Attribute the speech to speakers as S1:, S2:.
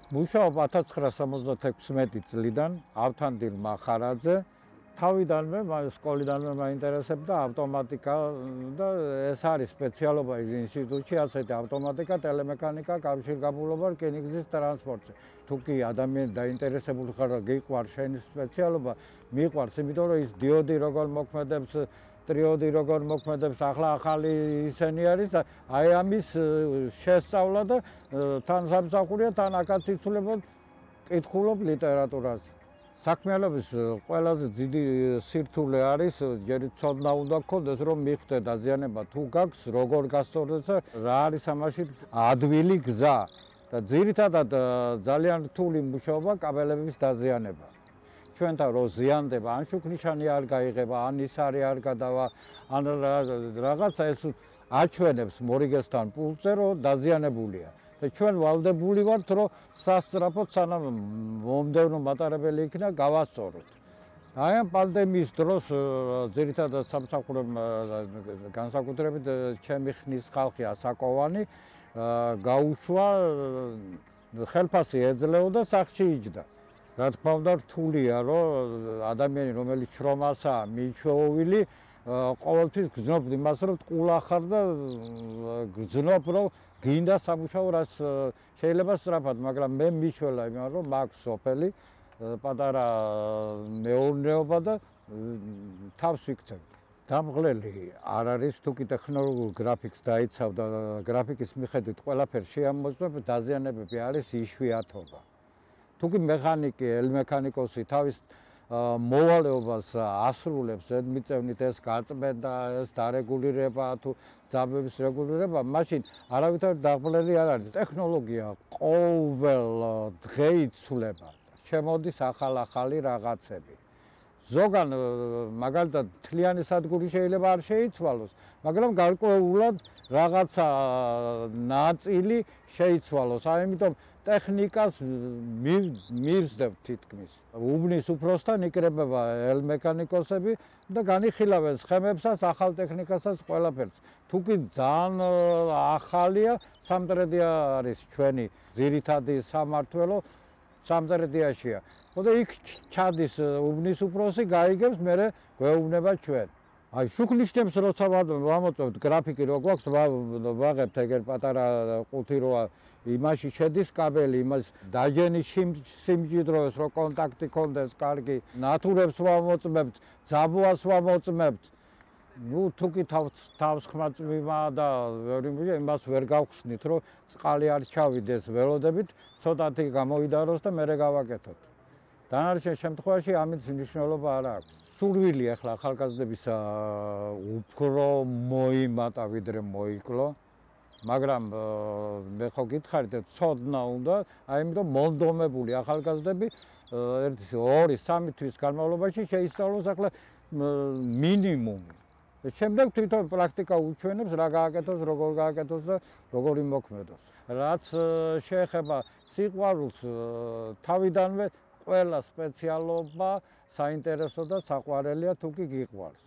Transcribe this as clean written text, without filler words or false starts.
S1: მუშაობ 1976 წლიდან ავთანდილ მახარაძე. თავიდანვე სკოლიდანვე მაინტერესებდა ავტომატიკა და ეს არის სპეციალობა ინსტიტუტში, ასეთი ავტომატიკა, ტელემექანიკა, კავშირგაბმულობა, რკინიგზის ტრანსპორტი. თუ კი ადამიანი დაინტერესებული ხარ და გიყვარს შენი სპეციალობა, მიყვარს, იმიტომ რომ ის დიოდი როგორ მოქმედებს, ტრიოდი როგორ მოქმედებს, ახალი ისენი არის და აი ამის შესწავლა და თან სამსახურია, თან აქაც იცვლება, კითხულობ ლიტერატურას. საქმიანობის ყველაზე დიდი სირთულე არის, ჯერ ცოდნა უნდა გქონდეს, რომ მიხვდე დაზიანება თუ გაქვს, როგორ გასწორდეს და რა არის ამაში ადვილი გზა. და ძირითადად ძალიან რთული მუშაობა კაბელების დაზიანება. ჩვენთან რო ზიანდება, ან შუქნიშანი არ გაიღება, ან ისარი არ გადავა, ან რაღაცა ეს აჩვენებს მორიგესთან პულსზე, რომ დაზიანებულია. და ჩვენ ვალდებული ვართ, რომ სასწრაფოდ სანამ მომდევნო მატარებელი იქნა, გავასწოროთ. აი ამ პანდემიის დროს ძირითადად სამსახურემ განსაკუთრებით ჩემი ხნის ხალხი ასაკოვანი გაუშვა, ხელფასი ეძლეოდა, სახლში იჯდა. რა თქმა უნდა, რთულია, რომ ადამიანი, რომელიც შრომასაა მიჩვეული, ყოველთვის გრძნობ იმას, რომ ტყულა ხარ და გრძნობ, რომ გინდა სამუშაო, რაც შეიძლება სწრაფად, მაგრამ მე მიშველა იმან, რომ მაქვს სოფელი, პატარა მეურნეობა და თავს ვიქცევ. დამღლელი არ არის, თუ კი ტექნოლოგიურ გრაფიკს დაიცავ და გრაფიკის მიხედვით ყველაფერს შეამოწმებ, დაზიანებები არის იშვიათობა. თუ კი მექანიკი, ელმექანიკოსი თავის მოვალეობას ასრულებს, მიწევნით ეს გაწმენდა, ეს დარეგულირება თუ ძაბების რეგულირება, მაშინ არავითარი დაღლელი არ არის. ტექნოლოგია ყოველ დღე იცვლება, შემოდის ახალი რაღაცები. ზოგან მაგალითად მთლიანი სადგური შეიძლება არ შეიცვალოს, მაგრამ გარკვეულად რაღაცა ნაწილი შეიცვალოს. ამიტომ ტექნიკას მივსდებთ თითქმის. უბნის უფროსთან იკრებება ელმექანიკოსები და განიხილავენ სხემებსაც, ახალ ტექნიკასაც, ყველაფერს. თუ კი ძალიან ახალია, სამტრედია არის ჩვენი ძირითადი სამმართველო, სამტრედიაშია. და იქ ჩადის უბნის უფროსი, გაიგებს, მერე გვეუბნება ჩვენ. აი შუქნიშნებს როცა ვამოწმებთ გრაფიკი რო გვაქვს, ვაღებთ ეგერ პატარა ყუთი როა იმაში შედის კაბელი, იმას დაჯენის სიმჭიდროვეს, რომ კონტაქტი ქონდეს კარგი, ნათურებს ვამოწმებთ, ძაბუას ვამოწმებთ. ნუ თუ კი თავს ხმაწვიმა და იმას ვერ გავხსნით, რომ წყალი არ ჩავიდეს ველოდებით, ცოტათი გამოიდაროს და მერე გავაკეთოთ. დანარჩენ შემთხვევაში ამით მნიშვნელობა არ აქვს. სურვილი ახლა ახალგაზრდებისა უფრო მოიმატა ვიდრე მოიკლო, მაგრამ მე ხო გითხარით, ცოდნა უნდა, ამიტომ მონდომებული ახალგაზრდები 1-2-3 თვის განმავლობაში შეისწავლოს ახლა მინიმუმი. შემდეგ თვითონ პრაქტიკა უჩვენებს, რა გააკეთოს, როგორ გააკეთოს და როგორ იმოქმედოს. რაც შეეხება სიყვარულს, თავიდანვე ყველა სპეციალობა საინტერესო და საყვარელია, თუ კი გიყვარს.